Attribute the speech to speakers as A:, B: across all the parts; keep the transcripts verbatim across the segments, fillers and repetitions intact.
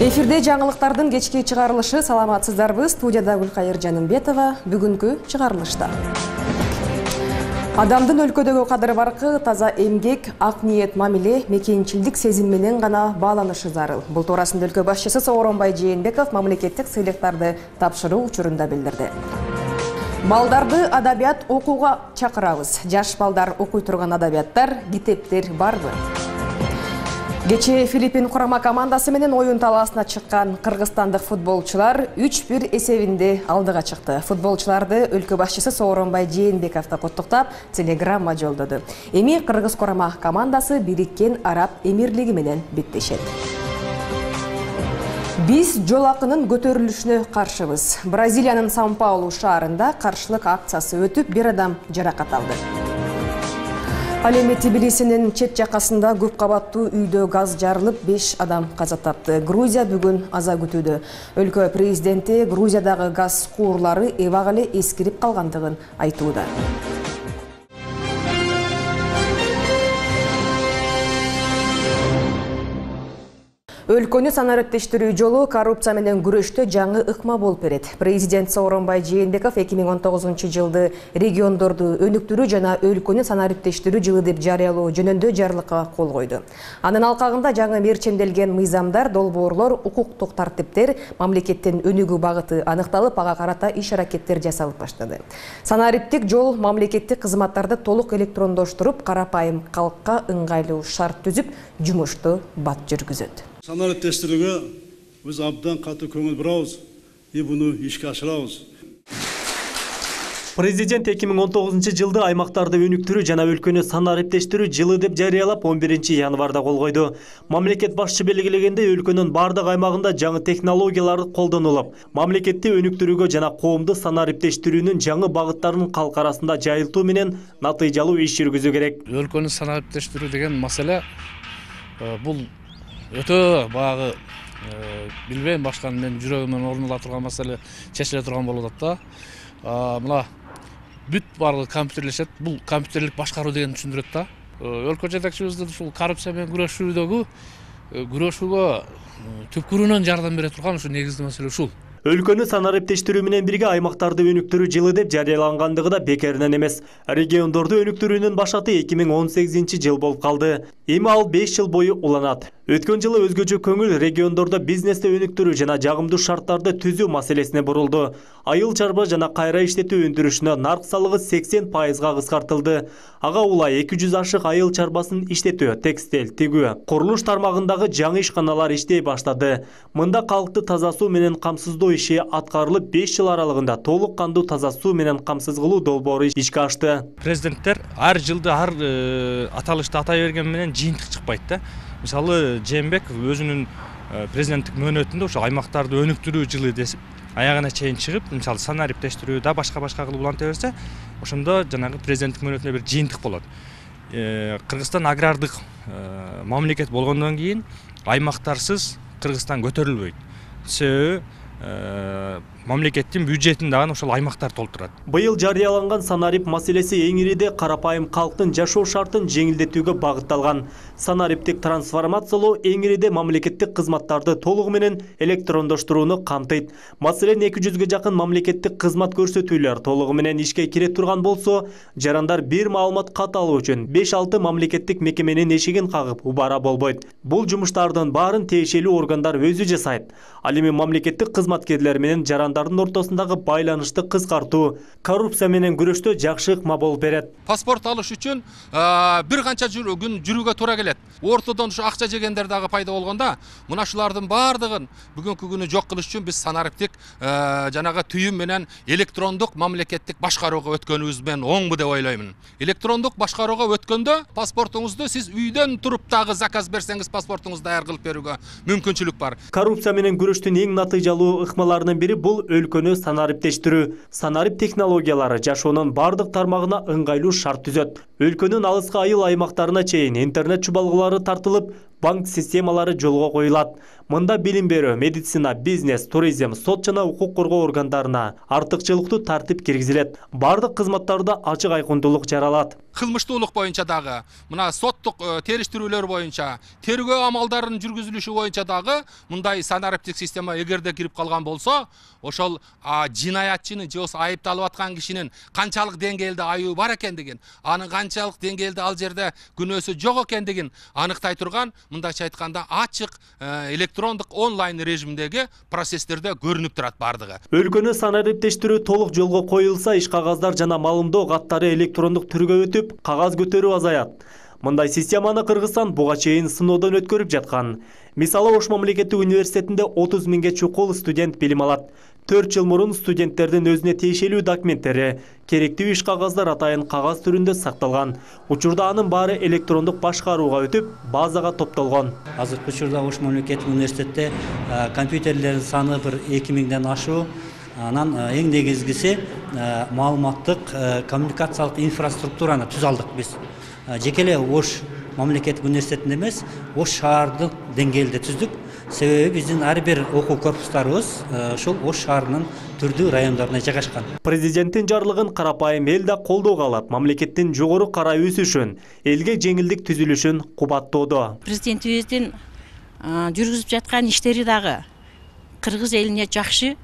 A: Эфирде жаңылыктардын кечки чыгарылышы. Саламатсыздарбы? Студияда Гүлкайыр Жанымбетова. Бүгүнкү чыгарылышта. Адамдын өлкөдөгү кадыры баркы, таза эмгек, ак ниет мамиле, мекенчилдик сезим менен гана бааланышы зарыл. Бул туурасында өлкө башчысы Сооронбай Жээнбеков мамлекеттик сыйлыктарды тапшыруу учурунда билдирди. Балдарды адабият окууга чакырабыз. Жаш балдар окуй турган адабияттар, китептер барбы? Кечээ Филиппин курама командасы менен оюн талаасына чыккан кыргызстандык футболчулар үч бир эсебинде алдыга чыкты. Футболчуларды өлкө башчысы Сооронбай Жээнбеков куттуктап телеграмма жолдоду. Эми кыргыз курама командасы Бириккен Араб Эмирлиги менен беттешет. Биз жол акынын көтөрүлүшүнө каршыбыз. Бразилиянын Сан-Паулу шаарында каршылык акциясы өтүп, бир адам жаракат алды. Ал эми Тбилисинин чет жакасында көп кабаттуу үйдө газ жарылып, беш адам каза тапты. Грузия бүгүн аза күтүүдө. Өлкө президенти Грузиядагы газ куурлары эбак эле эскирип калгандыгын айтууда. Өлкөнү санариптештирүү жолу коррупция менен күрөштө жаңы ыкма болуп берет. Президент Сооронбай Жээнбеков эки миң он тогузунчу жылды региондорду өнүктүрүү жана өлкөнү санариптештирүү жылы деп жарыялоо жөнүндө жарлыкка кол койду. Анын алкагында жаңы мерчемделген мыйзамдар, долбоорлор, укуктук тартиптер, мамлекеттин өнүгүү багыты аныкталып, ага карата иш-аракеттер жасалып баштады. Санариптик жол мамлекеттик кызматтарды толук электрондоштуруп, карапайым калкка ыңгайлуу шарт түзүп, жумушту бат жүргүзөт.
B: Санариптештирүүгө биз абдан катуу көңүл бурабыз и буну ишке ашырабыз.
C: Президент эки миң он тогузунчу жылды аймактарды өнүктүрүү жана өлкөнү санариптештирүү жылы деп жарыялап, он биринчи январда кол койду. Мамлекет башчы белгилегенде өлкөнүн бардык аймагында жаңы технологиялар колдонулуп, мамлекетти өнүктүрүүгө жана коомду санариптештирүүнүн жаңы багыттарын калк арасында жайылтуу менен натыйжалуу иш жүргүзүү керек.
D: Өлкөнү санариптештирүү деген маселе бул өтө багы билбейм, башканы мен жүрөгүмөн орун ала турган маселе чечиле турган болуп атат да. Мына бүт барлыгы компьютерлешет. Бул компьютерлик башкаруу деген түшүндүрөт да. Өлкө жетекчибиздин ушул коррупция менен күрөшүүдөгү күрөшүүгө түпкүрүнөн жардам бере турган ушу негизги маселе ушул.
C: Өлкөнү санариптештирүү менен бирге аймактарды өнүктүрүү жылы деп жарыялангандыгы да бекеринен эмес. Региондорду өнүктүрүүнүн башаты эки миң он сегизинчи жыл болуп калды. Эми ал беш жыл бою уланат. Өткөн жылы өзгөчө көңүл региондордо бизнести өнүктүрүү жана жагымдуу шарттарды түзүү маселесине бурулду. Айыл чарба жана кайра иштетүү өндүрүшүнө нарк салыгы сексен пайызга кыскартылды. Ага улай эки жүз ашык айыл чарбасын иштетүү, текстиль, тигүү, курулуш тармагындагы жаңы ишканалар иштей баштады. Мында калкты таза суу менен камсыздоо иши аткарылып, беш жыл аралыгында толук кандуу таза суу менен камсыз кылуу долбоору ишке ашты.
E: Президенттер ар жылды ар аталышты атай берген менен жыйынтык чыкпайт да. Мисалы, Жээнбеков өзүнүн президенттик мөөнөтүндө ошо аймактарды өнүктүрүү жылы десип, аягына чейин чыгып, мисалы санариптештирүү да башка-башка кылып уланта берсе, ошондо жанагы президенттик мөөнөтүнө бир жыйынтык болот. Кыргызстан агрардык мамлекет болгондон кийин аймактарсыз Кыргызстан көтөрүлбөйт. Себеби мамлекеттин бюджетин дагы ошол аймактар толтурат.
C: Быйыл жарыяланган санарип маселеси эң ириде карапайым калктын жашоо шартын жеңилдетүүгө багытталган. Санариптик трансформациялоо эң ириде мамлекеттик кызматтарды толугу менен электрондоштурууну камтыйт. Маселен, эки жүзгө жакын мамлекеттик кызмат көрсөтүүлөр толугу менен ишке кире турган болсо, жарандар бир маалымат кат алуу үчүн беш алты мамлекеттик мекеменин эшигин кагып убара болбойт. Бул жумуштардын баарын тиешелүү органдар өзү жасайт. Ал эми мамлекеттик кызматкерлер менен жарандардын ортосундагы байланышты кыскартуу, коррупция менен күрөштө жакшы ыкма болуп берет.
F: Паспорт алыш үчүн бир канча күн жүрүүгө туура келет. Ортодон ушу акча жегендер дагы пайда болгондо, мына шулардын баардыгын бүгүнкү күнү жок кылыш үчүн биз санариптик жанагы түйүм менен электрондук мамлекеттик башкарууга өткөнүбүз мен оңбу деп ойлоймун. Электрондук башкарууга өткөндө паспортуңузду сиз үйдөн туруп дагы заказ берсеңиз, паспортуңузду даяр кылып берүүгө мүмкүнчүлүк бар.
C: Коррупция менен күрөштүн эң натыйжалуу ыкмаларынын бири бул өлкөнү санариптештирүү. Санарип технологиялары жашоонун бардык тармагына ыңгайлуу шарт түзөт. Өлкөнүн алыскы айыл аймактарына чейин интернет чубалгылары тартылып, банк системалары жолго коюлат. Мында билим берүү, медицина, бизнес, туризм, сот жана укук коргоо органдарына артыкчылыктуу тартип киргизилет. Бардык кызматтарда ачык айкындуулук жаралат.
F: Кылмыштуулук боюнча дагы, мына соттук териштирүүлөр боюнча, тергөө амалдарынын жүргүзүлүшү боюнча дагы мындай санариптик система эгерде кирип калган болсо, ошол жинаятчынын же болбосо айыпталып аткан кишинин канчалык деңгээлде айыбы бар экендигин, анын канчалык деңгээлде ал жерде күнөөсү жок экендигин аныктай турган, мындайча айтканда ачык электрондук онлайн режимдеги процесстерде көрүнүп турат бардыгы.
C: Өлкөнү санариптештирүү толук жолго коюлса, иш кагаздар жана маалымдоо каттары электрондук түргө өтүп, кагаз көтөрүү азаят. Мындай системаны Кыргызстан буга чейин сыноодон өткөрүп жаткан. Мисалы, Ош мамлекеттик университетинде отуз миңге чукул студент билим алат. төрт жыл мурун студенттердин өзүнө тиешелүү документтери, керектүү иш кагаздар атайын кагаз түрүндө сакталган. Учурда анын баары электрондук башкарууга өтүп, базага топтолгон.
G: Азыркы учурда Ош мамлекеттик университетте компьютерлердин саны бир эки миңден ашуу. Анан эң негизгиси маалыматтык коммуникациялык инфраструктураны түзө алдык биз. Жеке эле Ош мамлекеттик университетинде эмес, Ош шаардык деңгээлде түздүк. Себеби биздин ар бир окуу корпустарыбыз ушул Ош шаарынын түрдүү райондорунда жайгашкан.
C: Президенттин жарлыгын карапайым эл да колдоого алат. Мамлекеттин жогору карай өсүшүн, элге жеңилдик түзүлүшүн кубаттоодо.
H: Президентибиздин жүргүзүп жаткан иштери дагы кыргыз элине жакшы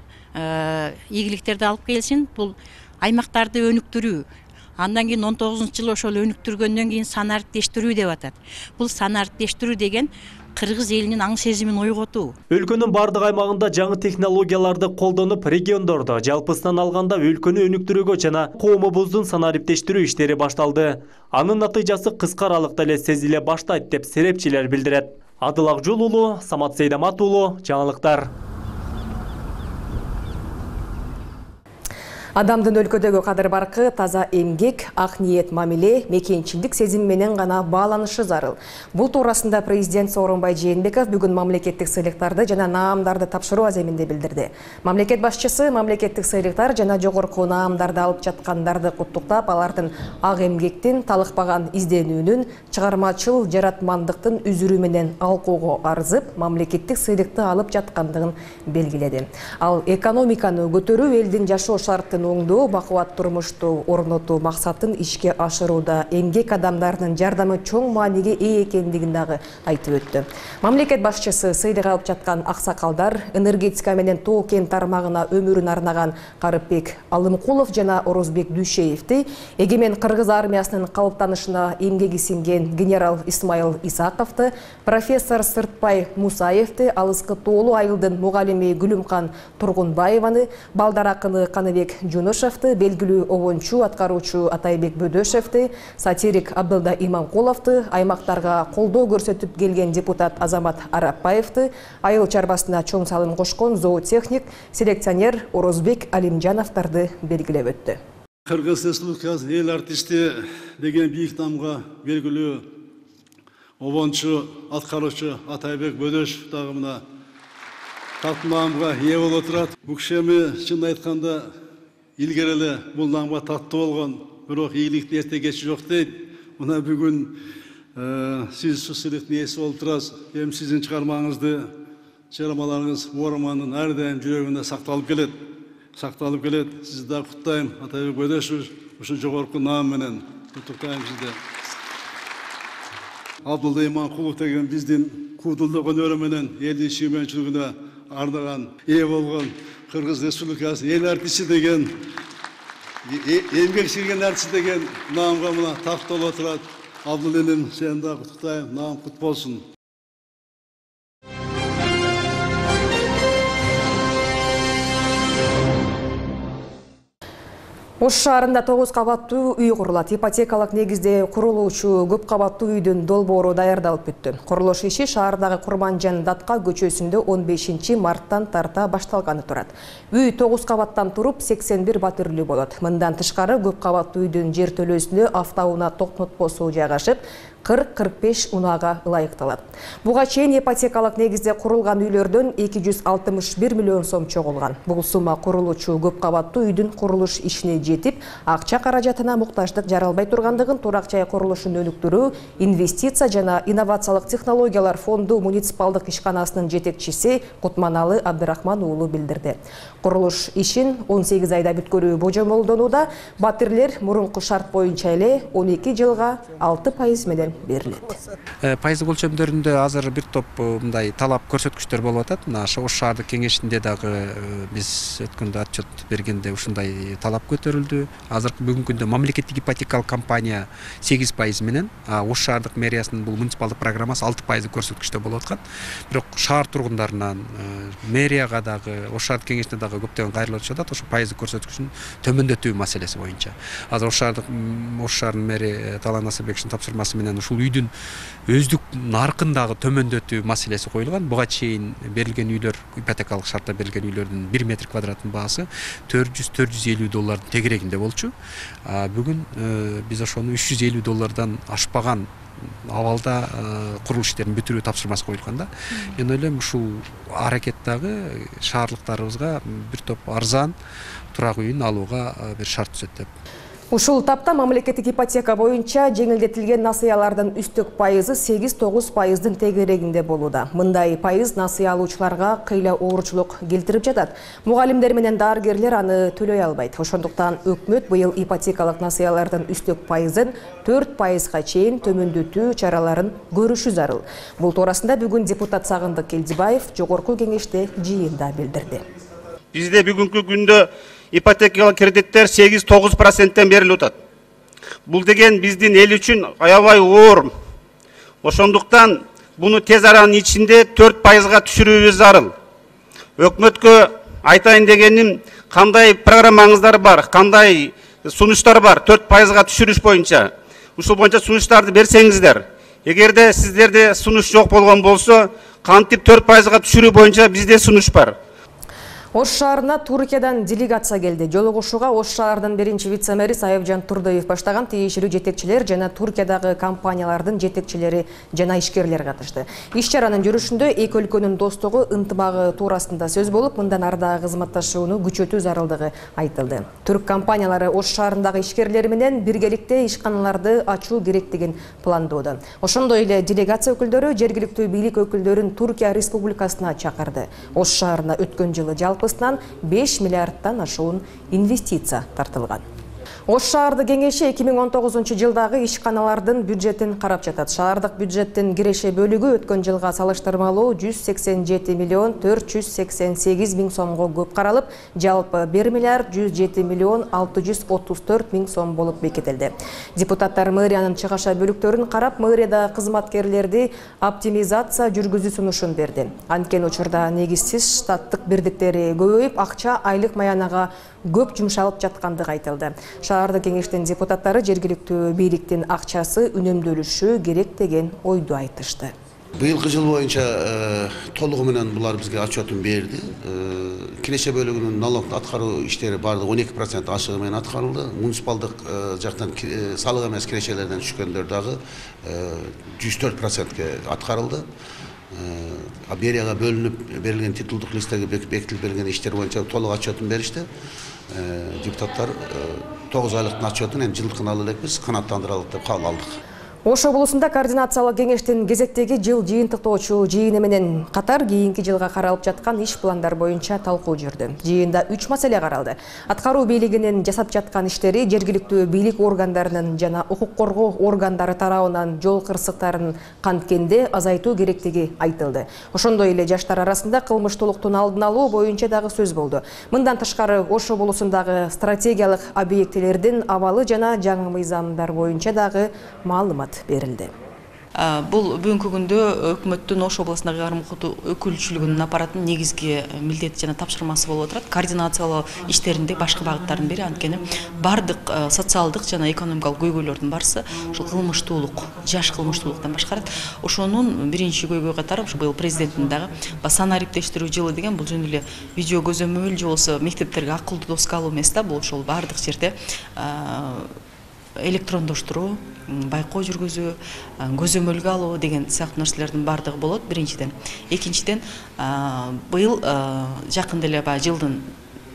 H: ийгиликтерди алып келсин. Бул аймактарды өнүктүрүү. Андан кийин он тогузунчу жылы ошол өнүктүргөндөн кийин санариптештирүү деп атат. Бул санариптештирүү деген кыргыз элинин аң сезимин ойготуу.
C: Өлкөнүн бардык аймагында жаңы технологияларды колдонуп, региондордо жалпысынан алганда өлкөнү өнүктүрүүгө жана коомубуздун санариптештирүү иштери башталды. Анын натыйжасы кыска аралыкта эле сезиле баштайт деп серепчилер билдирет. Адыл Акжол уулу, Самат Сейдамат уулу, жаңылыктар.
A: Адамдын өлкөдөгү кадыр баркы таза эмгек, ак ниет мамиле, мекенчилдик сезим менен гана бааланышы зарыл. Бул туурасында президент Сооронбай Жээнбеков бүгүн мамлекеттик сыйлыктарды жана наамдарды тапшыруу аземинде билдирди. Мамлекет башчысы мамлекеттик сыйлыктар жана жогорку наамдарды алып жаткандарды куттуктап, алардын ак эмгектин, талыкпаган изденүүнүн, чыгармачыл жаратмандыктын үзүрү менен алкоого арзып, мамлекеттик сыйлыкты алып жаткандыгын белгиледи. Ал экономиканы көтөрүү, элдин жашоо шартын оңдоо, бакубат турмушту орнотуу максатын ишке ашырууда эмгек адамдарынын жардамы чоң мааниге ээ экендигин дагы айтып өттү. Мамлекет башчысы сыйлык алып жаткан аксакалдар, энергетика менен тоо кен тармагына өмүрүн арнаган Карыпбек Алымкулов жана Орозбек Дүйшеевди, эгемен Кыргыз армиясынын калыптанышына эмгеги сиңген генерал Исмаил Исаковду, профессор Сыртбай Мусаевди, алыскы тоолуу айылдын мугалими Гүлүмкан Тургунбаеваны, балдар акыны Каныбек Жунушевди, белгилүү обончу аткаруучу Атайбек Бөдөшевди, сатирик Абдылда Иманкуловду, аймактарга колдоо көрсөтүп келген депутат Азамат Арапбаевди, айыл чарбасына чоң салым кошкон зоотехник, селекционер Орозбек Алимжановдорду белгилеп өттү.
B: Кыргыз Республикасы эл артисти деген бийик намга белгилүү обончу аткаруучу Атайбек Бөдөшев дагы мына тартмаамга ээ болуп отурат. Бул кишими чын айтканда илгери эле бул намга таттуу болгон, бирок ийгиликтин эрте кечи жок дейт. Мына бүгүн сиз ушул сыйлыктын ээси болуп турасыз. Эми сиздин чыгармаңызды, чыгармаларыңыз Ормандын ар дайым жүрөгүндө сакталып келет. Сакталып келет. Сизди да куттайм, Атайбек Бөдөшев, ушул жогорку наам менен куттуктайм сизди. Абдылда Иманкулов деген биздин куудулдук өнөрү менен элдин сүймөнчүлүгүнө ардаган, ээ болгон Кыргыз Республикасы эл артисти деген, эмгек сиңген артист деген наамга мына такталып отурат. Абдыл энем, сени да куттуктайм, наам кут болсун.
A: Ош шаарында тогуз кабаттуу үй курулат. Ипотекалык негизде курулуучу көп кабаттуу үйдүн долбоору даярдалып бүттү. Курулуш иши шаардагы Курманжан Датка көчөсүндө он бешинчи марттан тарта башталганы турат. Үй тогуз кабаттан туруп сексен бир батирлүү болот. Мындан тышкары көп кабаттуу үйдүн жер төлөөсүндө автоунаа токтотпосу жайгашып, кырк кырк беш унаага ылайыкталат. Буга чейин ипотекалык негизде курулган үйлөрдөн эки жүз алтымыш бир миллион сом чогулган. Бул сумма курулуучу көп кабаттуу үйдүн курулуш ишине жетип, акча каражатына муктаждык жаралбай тургандыгын Турак жай курулушун өнүктүрүү, инвестиция жана инновациялык технологиялар фонду муниципалдык ишканасынын жетекчиси Кутманалы Абдырахман уулу билдирди. Курулуш ишин он сегиз айда бүткөрүү божомолдонууда, батирлер мурунку шарт боюнча эле он эки жылга алты пайыз менен берилет.
I: Пайыздык өлчөмдөрүндө азыр бир топ мындай талап көрсөткүчтөр болуп атат. Мына Ош шаардык кеңешинде дагы биз өткөндө отчет бергенде ушундай талап көтөрүлдү. Азыркы бүгүнкү күндө мамлекеттик ипотекалык компания сегиз пайыз менен, Ош шаардык мэриясынын бул муниципалдык программасы алты пайыздык көрсөткүчтө болуп аткан. Бирок шаар тургундарынан мэрияга дагы, Ош шаардык кеңешине дагы көптөгөн кайрылып жатат ошо пайыздык көрсөткүчүн төмөндөтүү маселеси боюнча. Азыр Ош шаардык Ош шаарынын мэри Талан Насырбековичтин тапшырмасы менен ушул үйдүн өздүк наркын дагы төмөндөтүү маселеси коюлган. Буга чейин берилген үйлөр, ипотекалык шартта берилген үйлөрдүн бир метр квадраттын баасы төрт жүз төрт жүз элүү доллардын тегерегинде болчу. Бүгүн биз ошону үч жүз элүү доллардан ашпаган абалда курулуш иштерин бүтүрүү тапшырмасы коюлган да. Мен ойлойм ушул аракет дагы шаарлыктарыбызга бир топ арзан турак үйүн алууга бир шарт түзөт деп.
A: Ушул тапта мамлекеттик ипотека боюнча жеңилдетилген насыялардын үстүк пайызы сегиз тогуз пайыздын тегерегинде болууда. Мындай пайыз насыя алуучуларга кыйла оорчулук келтирип жатат. Мугалимдер менен дарыгерлер аны төлөй албайт. Ошондуктан өкмөт быйыл ипотекалык насыялардын үстүк пайызын төрт пайызга чейин төмөндөтүү чараларын көрүшү зарыл. Бул туурасында бүгүн депутат Сагындык Келдибаев жогорку кеңеште жыйында билдирди.
J: Бизде бүгүнкү күндө ипотекалык кредиттер сегиз тогуз проценттен берилип атат. Бул деген биздин эл үчүн аябай оор. Ошондуктан буну тез аранын ичинде төрт пайызга түшүрүүбүз зарыл. Өкмөткө айтайын дегеним, кандай программаңыздар бар, кандай сунуштар бар төрт пайызга түшүрүш боюнча. Ушул боюнча сунуштарды берсеңиздер. Эгерде сиздерде сунуш жок болгон болсо, кантип төрт пайызга түшүрүү боюнча бизде сунуш бар.
A: Ош шаарына Туркиядан делегация келди. Жолугушууга Ош шаарынын биринчи вице-мэри Сайыпжан Турдоев баштаган тийиштүү жетекчилер жана Туркиядагы компаниялардын жетекчилери жана ишкерлер катышты. Иш чаранын жүрүшүндө эки өлкөнүн достугу, ынтымагы туурасында сөз болуп, мындан ары дагы кызматташууну күчөтүү зарылдыгы айтылды. Түрк компаниялары Ош шаарындагы ишкерлер менен биргеликте ишканаларды ачуу керек деген пландоодо. Ошондой эле делегация өкүлдөрү жергиликтүү бийлик өкүлдөрүн Туркия Республикасына чакырды. Ош шаарына өткөн жылы жалпысынан беш миллиардтан ашуун инвестиция тартылган. Ош шаардык кеңеши эки миң он тогузунчу жылдагы ишканалардын бюджетин карап жатат. Шаардык бюджеттин киреше бөлүгү өткөн жылга салыштырмалуу жүз сексен жети миллион төрт жүз сексен сегиз миң сомго көп каралып, жалпы бир миллиард жүз жети миллион алты жүз отуз төрт миң сом болуп бекитилди. Депутаттар мэриянын чыгаша бөлүктөрүн карап, мэрияда кызматкерлерди оптимизация жүргүзүү сунушун берди. Анткени учурда негизсиз штаттык бирдиктери көбөйүп, акча айлык маянага көп жумшалып жаткандыгы айтылды. Шаардык кеңештин депутаттары жергиликтүү бийликтин акчасы үнөмдөлүшү керек деген ойду айтышты.
K: Быйылкы жыл боюнча толугу менен булар бизге отчетун берди. Киреше бөлүгүнүн налогду аткаруу иштери бардыгы он эки процент ашыгы менен аткарылды. Муниципалдык жактан салык эмес кирешелерден түшкөндөр дагы жүз төрт процентке аткарылды. Берияга бөлүнүп берилген титулдук листтерге бекитилип берилген иштер боюнча толук отчетун беришти. Депутаттар тогуз айлыктын отчетун эми жылдыкын ала элекпиз, канааттандыралык деп кабыл алдык.
A: Ош облусунда координациялык кеңештин кезектеги жыл жыйынтыктоочу жыйыны менен катар кийинки жылга каралып жаткан иш пландар боюнча талкуу жүрдү. Жыйында үч маселе каралды. Аткаруу бийлигинин жасап жаткан иштери, жергиликтүү бийлик органдарынын жана укук коргоо органдары тарабынан жол кырсыктарын канткенде азайтуу керектиги айтылды. Ошондой эле жаштар арасында кылмыштуулуктун алдын алуу боюнча дагы сөз болду. Мындан тышкары Ош облусундагы стратегиялык объектилердин абалы жана жаңы мыйзамдар боюнча дагы маалымат берилди.
L: Бул бүгүнкү күндө өкмөттүн Ош облусундагы айрым укуктуу өкүлчүлүгүнүн аппаратынын негизги милдети жана тапшырмасы болуп отурат. Координациялоо иштеринде башкы багыттардын бири, анткени бардык социалдык жана экономикалык көйгөйлөрдүн барысы ушул кылмыштуулук, жаш кылмыштуулуктан башкарат. Ошонун биринчи көйгөй катары ушу быйыл президенттин дагы санариптештирүү жылы деген бул жөн эле видео көзөмөл же болбосо мектептерге акылдуу доска алуу эмес да, бул ошол бардык жерде электрондоштуруу, байкоо жүргүзүү, көзөмөлгө алуу деген сыяктуу нерселердин баардыгы болот биринчиден. Экинчиден быйыл жакында эле баягы жылдын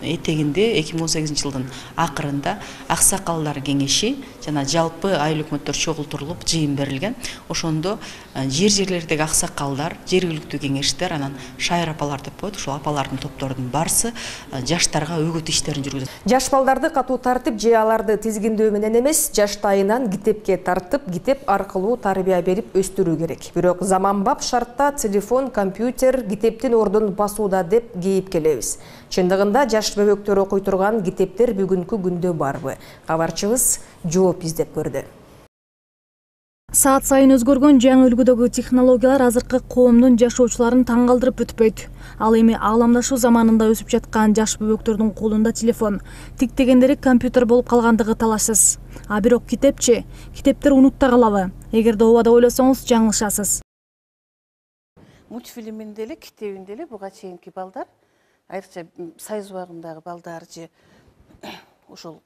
L: этегинде эки миң он сегизинчи жылдын акырында аксакалдар кеңеши жана жалпы айыл өкмөттөр чогултурулуп жыйын берилген. Ошондо жер жерлердеги аксакалдар, жергиликтүү кеңештер, анан шайыр апалар деп коет, ошол апалардын топторунун барысы жаштарга өгөт иштерин жүргүзөт.
A: Жаш балдарды катуу тартып же аларды тизгиндөө менен эмес, жаштайынан китепке тартып, китеп аркылуу тарбия берип өстүрүү керек. Бирок заманбап шартта телефон, компьютер китептин ордун басууда деп кейип келебиз. Чындыгында жаш бөбөктөр окуй турган китептер бүгүнкү күндө барбы? Кабарчыбыз жооп издеп көрдү.
M: Саат сайын өзгөргөн жаңы үлгүдөгү технологиялар азыркы коомдун жашоочуларын таң калтырып бүтпөйт. Ал эми ааламдашуу заманында өсүп жаткан жаш бөбөктөрдүн колунда телефон, тиктегендери компьютер болуп калгандыгы талашсыз. А бирок китепчи, китептер унутта калабы? Эгерде ооба деп ойлосоңуз, жаңылышасыз.
N: Мультфильминде эле, китебинде эле буга чейинки балдар, айрыкча сайыз убагындагы балдар же ошол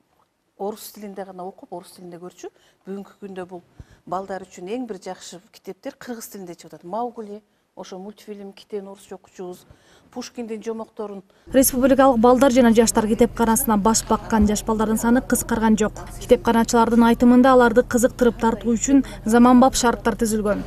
N: орус тилинде гана окуп, орус тилинде көрчү. Бүгүнкү күндө бул балдар үчүн эң бир жакшы китептер кыргыз тилинде чыгып атат. Маугли, ошо мультфильм, китебин орусча окучубуз, Пушкиндин жомокторун.
M: Республикалык балдар жана жаштар китепканасына баш баккан жаш балдардын саны кыскарган жок. Китепканачылардын айтымында аларды кызыктырып тартуу үчүн заманбап шарттар түзүлгөн.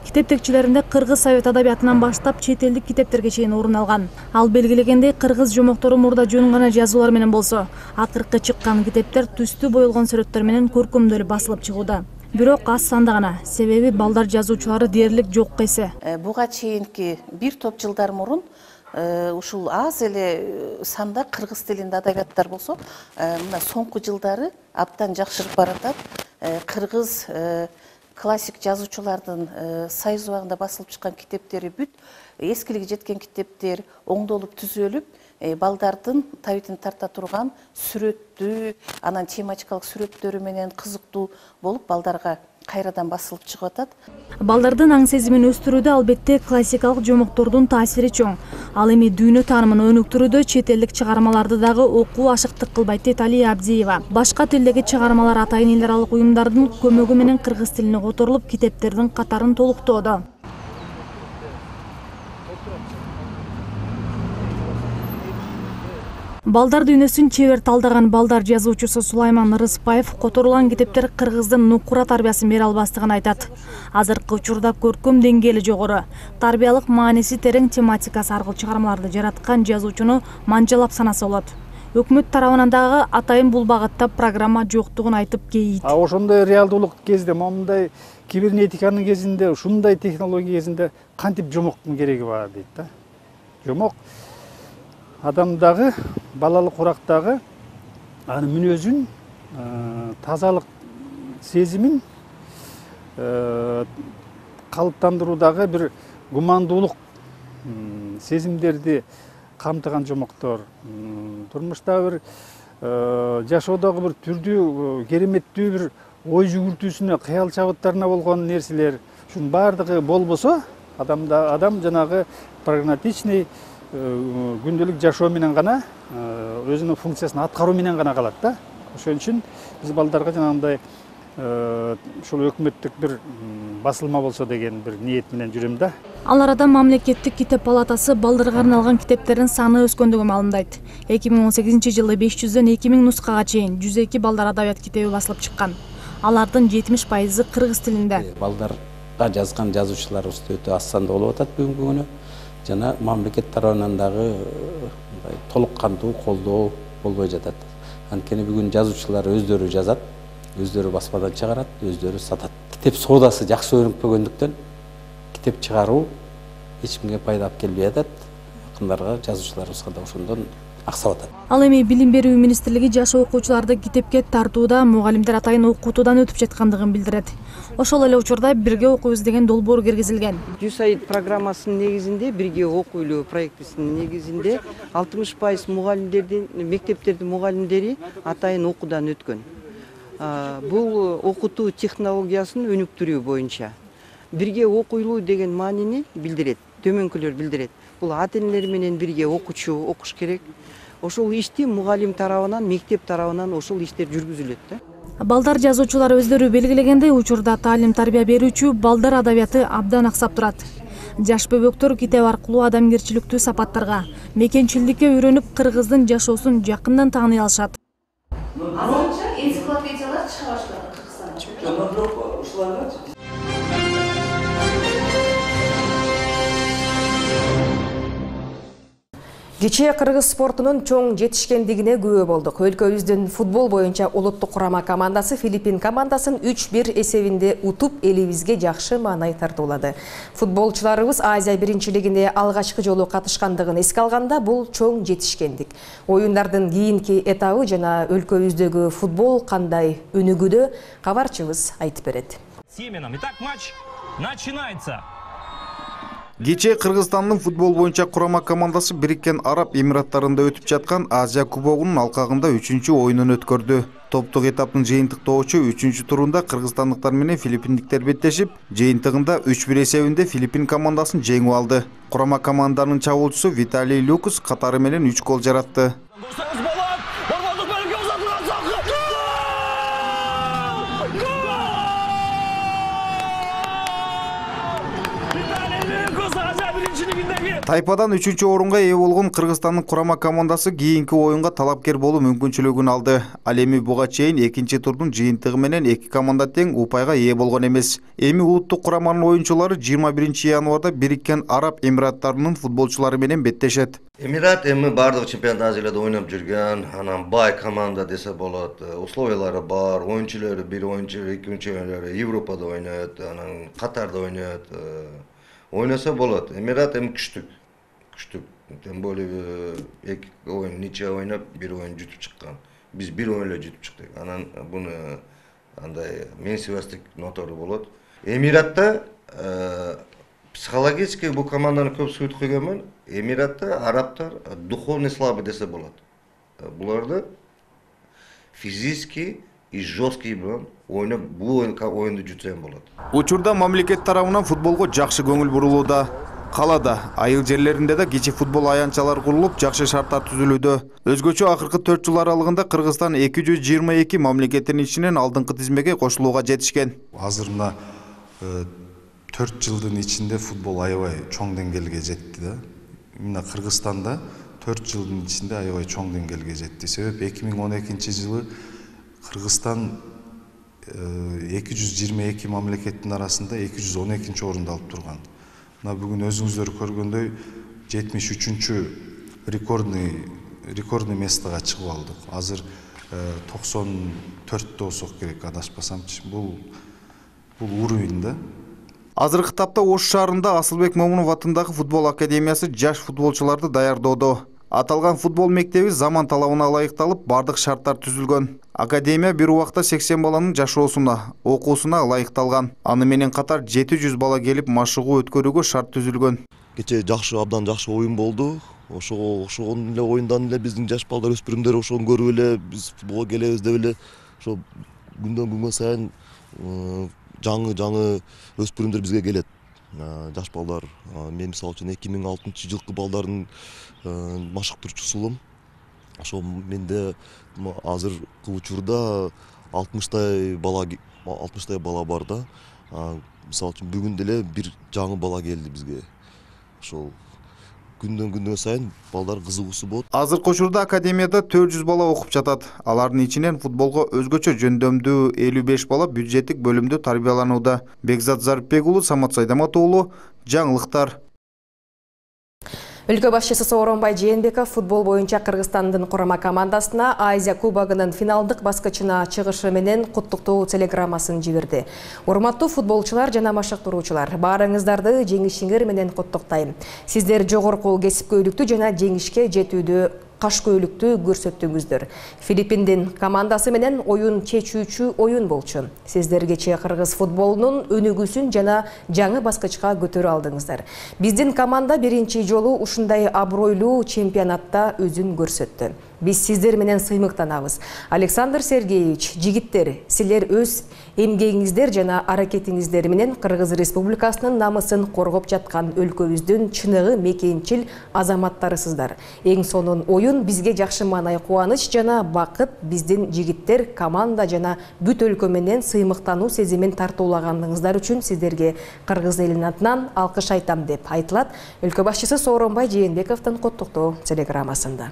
M: Китеп текчилеринде кыргыз совет адабиятынан баштап чет элдик китептерге чейин орун алган. Ал белгилегендей кыргыз жомоктору мурда жөн гана жазуулар менен болсо, акыркы чыккан китептер түстүү боелгон сүрөттөр менен көркөмдөлүп басылып чыгууда. Бирок аз санда гана, себеби балдар жазуучулары дээрлик жок эсе.
N: Буга чейинки бир топ жылдар мурун ушул аз эле санда кыргыз тилинде адабияттар болсо, мына соңку жылдары абдан жакшырып баратат. Кыргыз классик жазуучулардын сайыз убагында басылып чыккан китептери бүт, эскилиги жеткен китептер оңдолуп түзөлүп, балдардын табитин тарта турган сүрөттүү, анан тематикалык сүрөттөрү менен кызыктуу болуп балдарга кайрадан басылып чыгып атат.
M: Балдардын аң сезимин өстүрүүдө албетте классикалык жомоктордун таасири чоң. Ал эми дүйнө таанымын өнүктүрүүдө чет элдик чыгармаларды дагы окуу ашыктык кылбайт дейт Алия Абдиева. Башка тилдеги чыгармалар атайын эл аралык уюмдардын көмөгү менен кыргыз тилине которулуп, китептердин катарын толуктоодо. Балдар дүйнөсүн чебер талдаган балдар жазуучусу Сулайман Рыспаев которулган китептер кыргыздын нукура тарбиясын бере албастыгын айтат. Азыркы учурда көркөм деңгээли жогору, тарбиялык мааниси терең тематикасы аркылуу чыгармаларды жараткан жазуучуну манжалап санаса болот. Өкмөт тарабынан дагы атайын бул багытта программа жоктугун айтып кейийт.
O: А ошондой реалдуулук кезде, момундай кибернетиканын кезинде, ушундай технология кезинде кантип жомоктун кереги бар дейт да. Жомок адамдагы, балалык урактагы анын мүнөзүн, тазалык сезимин калыптандыруудагы бир гумандуулук сезимдерди камтыган жомоктор. Турмушта бир жашоодогу бир түрдүү, кереметтүү бир ой жүгүртүүсүнө, кыял чабыттарына болгон нерселер, ушунун баардыгы болбосо, адамда адам жанагы прагматичный күндөлүк жашоо менен гана, өзүнүн функциясын аткаруу менен гана калат да. Ошон үчүн биз балдарга жанагындай ушул өкмөттүк бир басылма болсо деген бир ниет менен жүрөм да.
M: Ал арада мамлекеттик китеп палатасы балдарга арналган китептердин саны өскөндүгүн маалымдайт. эки миң он сегизинчи жылы беш жүздөн эки миң нускага чейин жүз эки балдар адабият китеби басылып чыккан. Алардын жетимиш пайызы кыргыз тилинде.
P: Балдарга жазган жазуучуларыбыз өтө аз санда болуп атат бүгүнкү күнү. Жана мамлекет тарабынан дагы толук кандуу колдоо болбой жатат. Анткени бүгүн жазуучулар өздөрү жазат, өздөрү басмадан чыгарат, өздөрү сатат. Китеп соодасы жакшы өнүкпөгөндүктөн китеп чыгаруу эч кимге пайда алып келбей атат. Акындарга, жазуучуларыбызга да ошондон аксап атат.
M: Ал эми Билим берүү министрлиги жаш окуучуларды китепке тартууда мугалимдер атайын окутуудан өтүп жаткандыгын билдирет. Ошол эле учурда бирге окуйбуз деген долбоор киргизилген.
Q: Жүз айд программасынын негизинде, бирге окуйлуу проектисинин негизинде алтымыш пайыз мугалимдердин, мектептердин мугалимдери атайын окуудан өткөн. Бул окутуу технологиясын өнүктүрүү боюнча бирге окуйлуу деген маанини билдирет, төмөнкүлөр билдирет. Бул ата-энелер менен бирге окуучу окуш керек. Ошол ишти мугалим тарабынан, мектеп тарабынан ошол иштер жүргүзүлөт да.
M: Балдар жазуучулар өздөрү белгилегендей, учурда таалим тарбия берүүчү балдар адабияты абдан аксап турат. Жаш бөбөктөр китеп аркылуу адамгерчиликтүү сапаттарга, мекенчилдикке үйрөнүп, кыргыздын жашоосун жакындан тааный алышат.
N: Азырынча энциклопедиялар чыга баштады Кыргызстанда.
A: Кечээ кыргыз спортунун чоң жетишкендигине күбө болдук. Өлкөбүздүн футбол боюнча улуттук курама командасы Филиппин командасын үч бир эсебинде утуп, элибизге жакшы маанай тартуулады. Футболчуларыбыз Азия биринчилигине алгачкы жолу катышкандыгын эске алганда, бул чоң жетишкендик. Оюндардын кийинки этабы жана өлкөбүздөгү футбол кандай өнүгүүдө, кабарчыбыз айтып берет.
R: Семеном. Итак, матч начинается.
S: Кечээ Кыргызстандын футбол боюнча курама командасы Бириккен Араб Эмираттарында өтүп жаткан Азия кубогунун алкагында үчүнчү оюнун өткөрдү. Топтук этаптын жыйынтыктоочу үчүнчү турунда кыргызстандыктар менен филиппиндиктер беттешип, жыйынтыгында үч бир эсебинде Филиппин командасын жеңип алды. Курама команданын чабуулчусу Виталий Люкус катары менен үч гол жаратты. Тайпадан үчүнчү орунга ээ болгон Кыргызстандын курама командасы кийинки оюнга талапкер болуу мүмкүнчүлүгүн алды. Ал эми буга чейин экинчи турдун жыйынтыгы менен эки команда тең упайга ээ болгон эмес. Эми улуттук кураманын оюнчулары жыйырма биринчи январда Бириккен Араб Эмираттарынын футболчулары менен беттешет.
T: Эмират эми бардык чемпионат Азияда ойноп жүргөн, анан бай команда десе болот. Условиялары бар, оюнчулары бир оюнчу, эки оюнчулары Европада ойнойт, анан Катарда ойнойт. Ойноса болот. Эмират эми күчтүк. Күчтүк. Тем более эки оюн нече ойноп, бир оюн жутуп чыккан. Биз бир оюн эле жутуп чыктык. Анан буну андай менсибестик нотору болот. Эмиратта психологически бул команданы көп сүйүтүп койгонмун. Эмиратта арабтар духовный слабый десе болот. Буларды физически и жесткий менен ойноп бул оюнду жутсам болот.
S: Учурда мамлекет тарабынан футболго жакшы көңүл бурулууда. Калада, айыл жерлеринде да кичи футбол аянтчалар курулуп, жакшы шарттар түзүлүүдө. Өзгөчө акыркы төрт жыл аралыгында Кыргызстан эки жүз жыйырма эки мамлекеттин ичинен алдыңкы тизмеге кошулууга жетишкен.
U: Азыр мына төрт жылдын ичинде футбол аябай чоң деңгээлге жетти да. Мына Кыргызстанда төрт жылдын ичинде аябай чоң деңгээлге жетти. Себеп эки миң он экинчи жылы Кыргызстан эки жүз жыйырма эки мамлекеттин арасында эки жүз он экинчи орунду алып турган. Мына бүгүн өзүңүздөр көргөндөй жетимиш үчүнчү рекордный рекордный местага чыгып алдык. Азыр токсон төрттө болсок керек, адашпасамчы. Бул бул уровень да.
S: Азыркы тапта Ош шаарында Асылбек Момунов атындагы футбол академиясы жаш футболчуларды даярдоодо. Аталган футбол мектеби заман талабына ылайыкталып, бардык шарттар түзүлгөн. Академия бир убакта сексен баланын жашоосуна, окуусуна ылайыкталган. Аны менен катар жети жүз бала келип машыгуу өткөрүүгө шарт түзүлгөн.
V: Кечээ жакшы, абдан жакшы оюн болду. Ошого окшогон эле оюндан эле биздин жаш балдар, өспүрүмдөр ошону көрүп эле биз футболго келебиз деп эле ошо күндөн күнгө сайын жаңы-жаңы өспүрүмдөр бизге келет. Жаш балдар, мен мисалы үчүн эки миң алтынчы жылкы балдардын машыктыруучусумун. Ошо менде азыркы учурда алтымыштай бала алтымыштай бала бар да. Мисалы үчүн бүгүн деле бир жаңы бала келди бизге. Ошол күндөн күнгө сайын балдар кызыгуусу болот.
S: Азыркы учурда академияда төрт жүз бала окуп жатат. Алардын ичинен футболго өзгөчө жөндөмдүү элүү беш бала бюджеттик бөлүмдө тарбияланууда. Бекзат Зарипбек уулу, Самат Сайдамат уулу, жаңылыктар. Өлкө башчысы Сооронбай Жээнбеков футбол боюнча Кыргызстандын курама командасына Азия кубогунун финалдык баскычына чыгышы менен куттуктоо телеграммасын жиберди. Урматтуу футболчулар жана машыктыруучулар, баарыңыздарды жеңишиңер менен куттуктайм. Сиздер жогорку кесипкөйлүктү жана жеңишке жетүүдө кашкөйлүктү көрсөттүңүздөр. Филиппиндин командасы менен оюн чечүүчү оюн болчу. Сиздер кечээ кыргыз футболунун өнүгүүсүн жана жаңы баскычка көтөрө алдыңыздар. Биздин команда биринчи жолу ушундай абройлуу чемпионатта өзүн көрсөттү.
A: Биз сиздер менен сыймыктанабыз. Александр Сергеевич, жигиттер, силер өз эмгегиңиздер жана аракетиңиздер менен Кыргыз Республикасынын намысын коргоп жаткан өлкөбүздүн чыныгы мекенчил азаматтарысыздар. Эң сонун оюн бизге жакшы маанай кубаныч жана бакыт биздин жигиттер команда жана бүт өлкө менен сыймыктануу сезимин тартуулагандыгыңыздар үчүн сиздерге Кыргыз элинин атынан алкыш айтам деп айтылат өлкө башчысы Сооронбай Жээнбековдун коттуктоо телеграммасында.